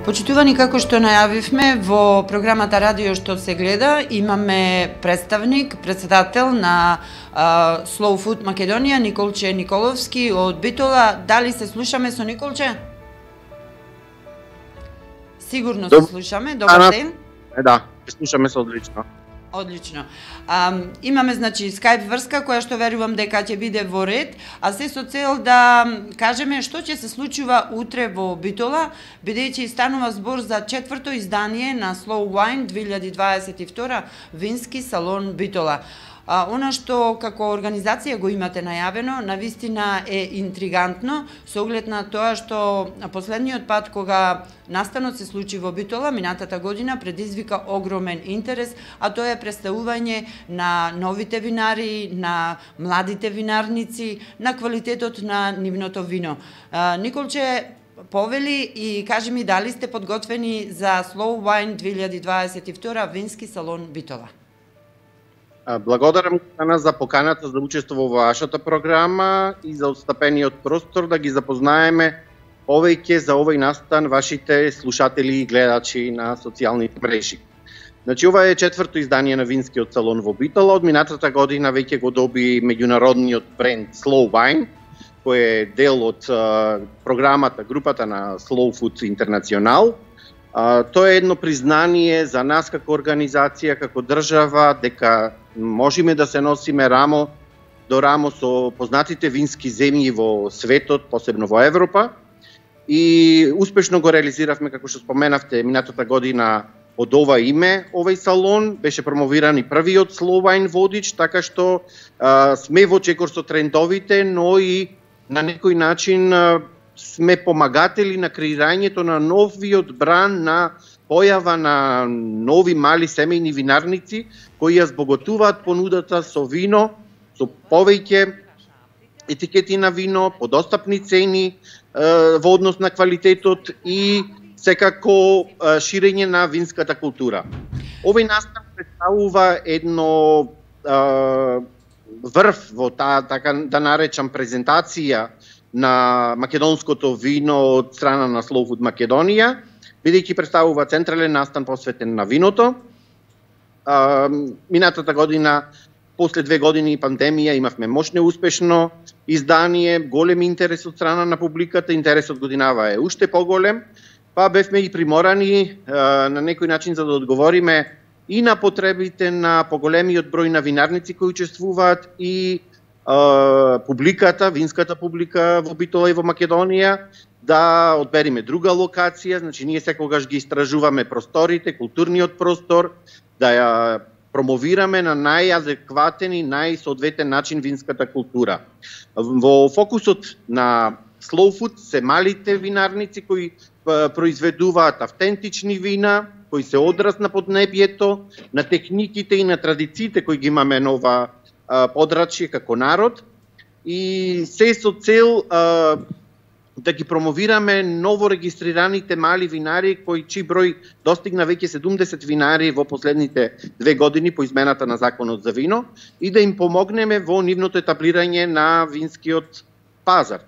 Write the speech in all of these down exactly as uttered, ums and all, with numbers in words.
Почитувани, како што најавивме во програмата Радио што се гледа, имаме представник, председател на а, Slow Food Македонија, Николче Николовски од Битола. Дали се слушаме со Николче? Сигурно се слушаме. Добар ден. Да, се слушаме се одлично. Одлично. А, имаме, значи, скајп врска која што верувам дека ќе биде во ред, а се со цел да кажеме што ќе се случува утре во Битола, бидејќи станува збор за четврто издание на Slow Wine две илјади дваесет и втора вински салон Битола. А, она што како организација го имате најавено, навистина е интригантно, со оглед на тоа што последниот пат кога настанот се случи во Битола, минатата година, предизвика огромен интерес, а тоа е представување на новите винари, на младите винарници, на квалитетот на нивното вино. А, Николче, повели и кажи ми дали сте подготвени за Slow Wine две илјади дваесет и втора вински салон Битола? Благодарам за поканата за учество во вашата програма и за отстапениот простор да ги запознаеме повеќе за овој настан вашите слушатели и гледачи на социјалните мрежи. Значи, ова е четврто издание на винскиот салон во Битола. Од минатата година веќе го доби меѓународниот бренд Slow Wine, кој е дел од uh, програмата, групата на Slow Food International. Uh, тоа е едно признание за нас како организација, како држава, дека можеме да се носиме рамо до рамо со познатите вински земји во светот, посебно во Европа. И успешно го реализиравме, како што споменавте, минатата година од ова име, овој салон беше промовиран и првиот Slow Wine водич, така што а, сме во чекор со трендовите, но и на некој начин а, сме помагатели на креирањето на новиот бран, на појава на нови мали семејни винарници кои ја збогатуваат понудата со вино, со повеќе етикети на вино, по достапни цени во однос на квалитетот и секако ширење на винската култура. Овој настан представува едно врв во таа, така да наречам, презентација на македонското вино од страна на Slow Food Македонија, бидејќи представува централен настан посветен на виното. А, минатата година, после две години пандемија, имавме мощно успешно издание, голем интерес од страна на публиката, интересот годинава е уште поголем, па бевме и приморани а, на некој начин за да одговориме и на потребите на поголемиот број на винарници кои учествуваат и а, публиката, винската публика во Битола и во Македонија, да одбериме друга локација. Значи, ние секогаш ги истражуваме просторите, културниот простор, да ја промовираме на најадекватен и најсоодветен начин винската култура. Во фокусот на Slow Food се малите винарници кои произведуваат автентични вина, кои се одраз на поднебјето, на техниките и на традициите кои ги имаме на ова подрачје како народ, и се со цел а, да ги промовираме ново регистрираните мали винари кои чиј број достигна веќе седумдесет винари во последните две години по измената на законот за вино и да им помогнеме во нивното етаблирање на винскиот пазар.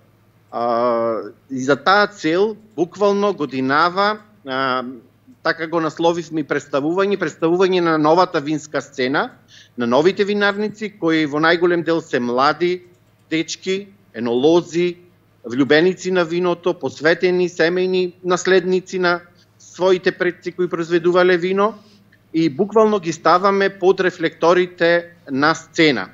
А, и за таа цел буквално годинава, а, така го насловивме и представување, представување на новата винска сцена, на новите винарници кои во најголем дел се млади дечки, енолози, влюбеници на виното, посветени семејни наследници на своите предци кои произведувале вино, и буквално ги ставаме под рефлекторите на сцена.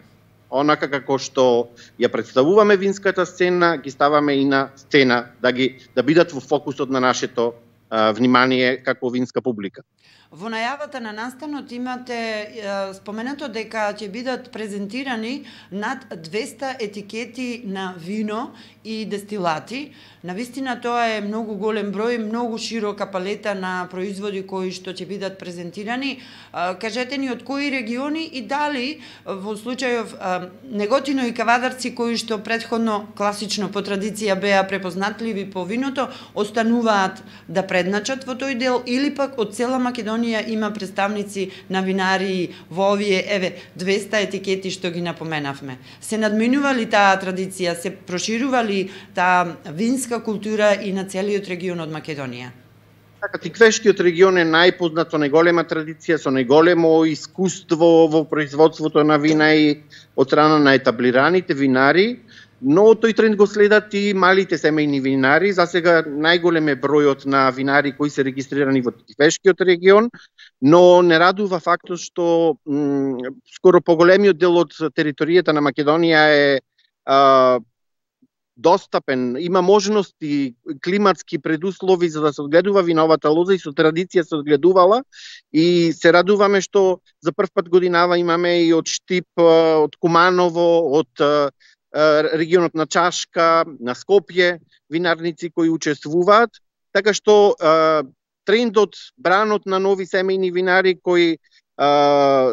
Онака како што ја представуваме винската сцена, ги ставаме и на сцена, да ги да бидат во фокусот на нашето а, внимание како винска публика. Во најавата на настанот имате е, споменато дека ќе бидат презентирани над двеста етикети на вино и дестилати. Навистина тоа е многу голем број, многу широка палета на производи кои што ќе бидат презентирани. Е, кажете ни од кои региони и дали во случајов е, Неготино и Кавадарци кои што претходно класично по традиција беа препознатливи по виното, остануваат да предначат во тој дел или пак од цела Македонија има представници на винари во овие еве двеста етикети што ги напоменавме. Се надминува ли таа традиција, се проширува ли таа винска култура и на целиот регион од Македонија? Така, Тиквешкиот регион е најпознат со најголема традиција, со најголемо искуство во производството на вина и од страна на етаблираните винари, но тој тренд го следат и малите семејни винари. За сега најголем е бројот на винари кои се регистрирани во Тиквешкиот регион, но не радува фактот што м, скоро поголемиот дел од територијата на Македонија е а, достапен, има можности, климатски предуслови за да се одгледува виновата лоза и со традиција се одгледувала, и се радуваме што за прв пат годинава имаме и од Штип, од Куманово, од регионот на Чашка, на Скопје, винарници кои учествуваат, така што трендот, бранот на нови семејни винари кои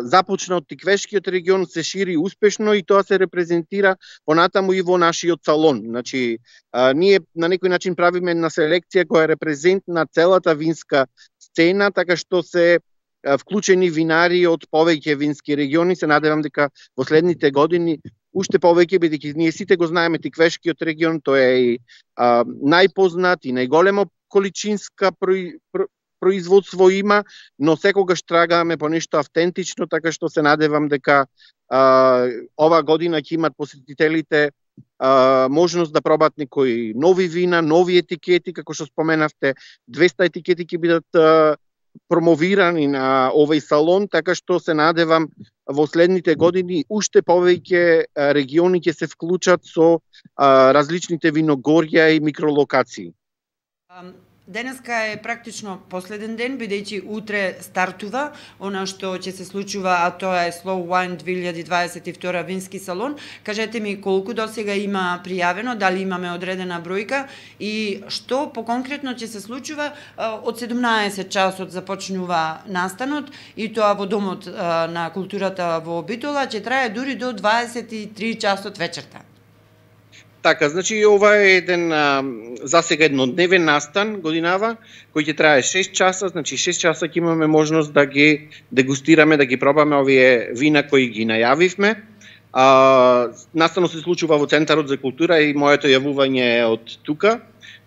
започна од Тиквешкиот регион се шири успешно и тоа се репрезентира понатаму и во нашиот салон. Значи, а, ние на некој начин правиме една селекција која е репрезент на целата винска сцена, така што се а, вклучени винари од повеќе вински региони. Се надевам дека во следните години уште повеќе, бидејќи ние сите го знаеме Тиквешкиот регион, тој е и а, најпознат и најголемо количинска прои, про, производство има, но секогаш трагаме по нешто автентично, така што се надевам дека а, ова година ќе имат посетителите а, можност да пробат некои нови вина, нови етикети, како што споменавте, двеста етикети ќе бидат а, промовирани на овој салон, така што се надевам во следните години уште повеќе региони ќе се вклучат со а, различните виногорја и микролокации. Денеска е практично последен ден, бидејќи утре стартува она што ќе се случува, а тоа е Slow Wine две илјади дваесет и втора вински салон. Кажете ми колку досега има пријавено, дали имаме одредена бројка и што поконкретно ќе се случува. Од седумнаесет часот започнува настанот и тоа во Домот на културата во Битола, ќе трае дури до дваесет и три часот вечерта. Така, значи ова е еден а, засега еднодневен настан годинава, кој ќе трае шест часа, значи шест часа ќе имаме можност да ги дегустираме, да ги пробаме овие вина кои ги најавивме. А, настанот се случува во Центарот за култура и моето јавување е од тука,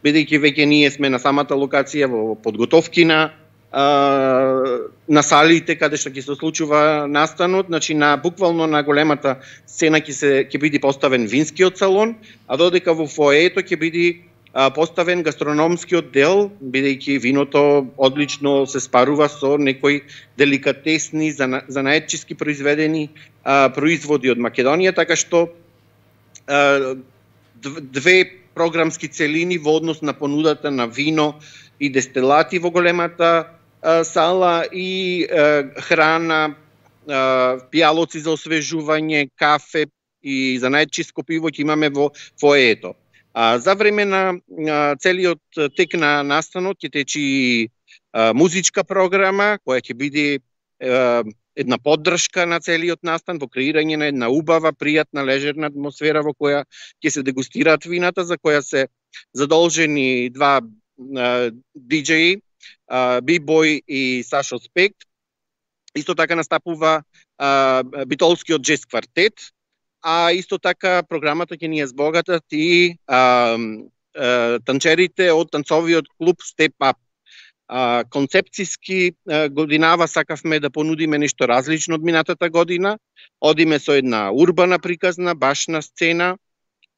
бидејќи веќе ние сме на самата локација во подготовки на на салите каде што ќе се случува настанот, значи на буквално на големата сцена ќе се ќе биде поставен винскиот салон, а додека во фоето ќе биде поставен гастрономскиот дел, бидејќи виното одлично се спарува со некои деликатесни занаетчиски произведени а, производи од Македонија, така што а, две програмски целини во однос на понудата на вино и дестилати во големата сала и е, храна, е, пијалоци за освежување, кафе и за најчиско пиво ќе имаме во фоето. А за време на а, целиот тек на настанот ќе течи а, музичка програма која ќе биде е, една поддршка на целиот настан во креирање на една убава, пријатна, лежерна атмосфера во која ќе се дегустираат вината, за која се задолжени два диџеи, B-Boy и Сашо Спект. Исто така настапува а, битолскиот джез квартет, а исто така програмата ќе ни ја збогатат и а, а, танчерите од танцовиот клуб Step Up. А, концепцијски а, годинава сакавме да понудиме нешто различно од минатата година. Одиме со една урбана приказна, башна сцена.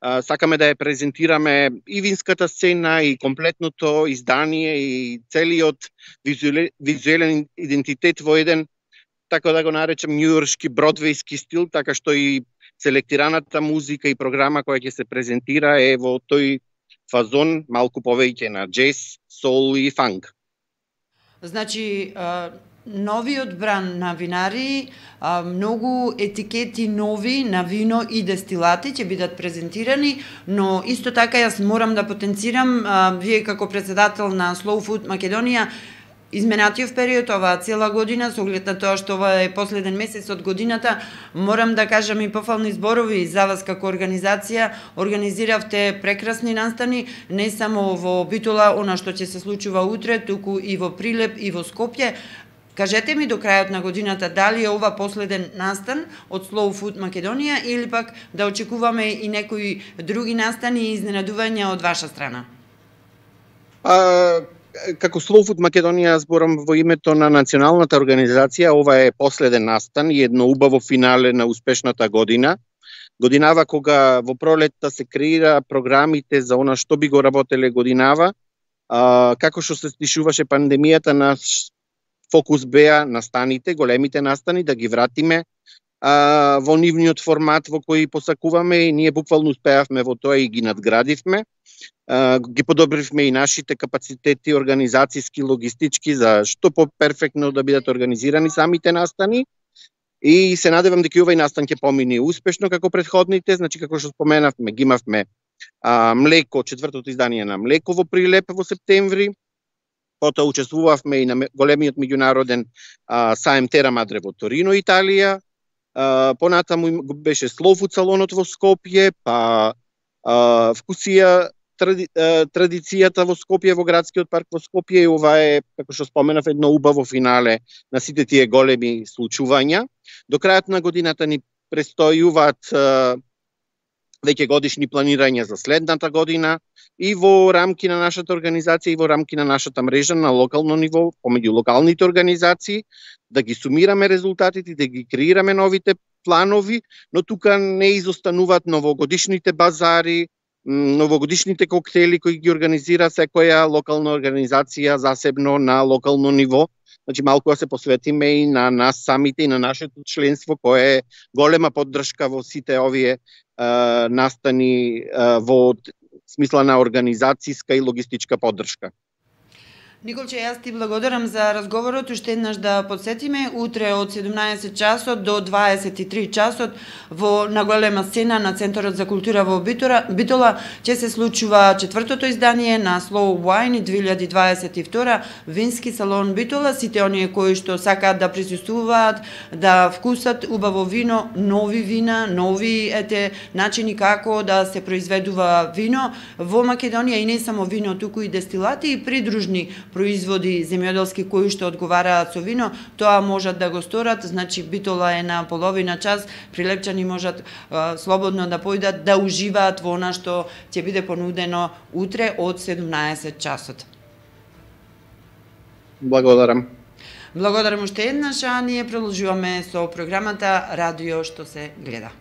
Сакаме да ја презентираме и винската сцена, и комплетното издание, и целиот визуелен идентитет во еден, така да го наречем, њујоршки бродвејски стил, така што и селектираната музика и програма која ќе се презентира е во тој фазон, малку повеќе на джез, сол и фанк. Значи, новиот бран на винари, многу етикети нови на вино и дестилати ќе бидат презентирани, но исто така јас морам да потенцирам, вие како председател на Slow Food Македонија, изменатиот период, оваа цела година, со оглед на тоа што ова е последен месец од годината, морам да кажам и пофални зборови за вас како организација. Организиравте прекрасни настани, не само во Битола, она што ќе се случува утре, туку и во Прилеп и во Скопје. Кажете ми до крајот на годината дали е ова последен настан од Slow Food Македонија или пак да очекуваме и некои други настани и изненадувања од ваша страна? А, како Slow Food Македонија зборам во името на националната организација, ова е последен настан и едно убаво финале на успешната година. Годинава кога во пролетта се креира програмите за она што би го работеле годинава, а, како што се стишуваше пандемијата, наш фокус беа настаните, големите настани, да ги вратиме а, во нивниот формат во кој посакуваме и ние буквално успеавме во тоа и ги надградивме. Uh, ги подобривме и нашите капацитети организацијски, логистички за што по-перфектно да бидат организирани самите настани. И се надевам дека овој настан ќе помине успешно како претходните, значи како што споменавме, ги имавме а, млеко, четвртото издание на млеко во Прилеп во септември. Потоа учествувавме и на големиот меѓународен а, саем Тера Мадре во Торино, Италија. А, понатаму беше Slow Food салонот во Скопје, па а, вкусија Тради, традицијата во Скопје, во градскиот парк во Скопје, и ова е, како што споменав, едно убаво финале на сите тие големи случувања. До крајот на годината ни престојуваат веќе годишни планирања за следната година и во рамки на нашата организација и во рамки на нашата мрежа на локално ниво, помеѓу локалните организации, да ги сумираме резултатите, да ги креираме новите планови, но тука не изостануваат новогодишните базари, новогодишните коктели кои ги организира секоја локална организација засебно на локално ниво. Значи малку да се посветиме и на нас самите и на нашето членство, кое е голема поддршка во сите овие е, настани е, во смисла на организацијска и логистичка поддршка. Николче, јас ти благодарам за разговорот. Уште еднаш да подсетиме, утре од седумнаесет часот до дваесет и три часот во наголема сцена на Центарот за култура во Битола, Битола ќе се случува четвртото издание на Slow Wine две илјади дваесет и втора вински салон Битола. Сите оние кои што сакаат да присуствуваат, да вкусат убаво вино, нови вина, нови ете начини како да се произведува вино во Македонија, и не само вино, туку и дестилати и придружни производи земјоделски кои што одговараат со вино, тоа можат да го сторат. Значи Битола е на половина час, прилепчани можат а, слободно да појдат да уживаат во она што ќе биде понудено утре од седумнаесет часот. Благодарам. Благодарам уште еднаш, а ние продолжуваме со програмата Радио што се гледа.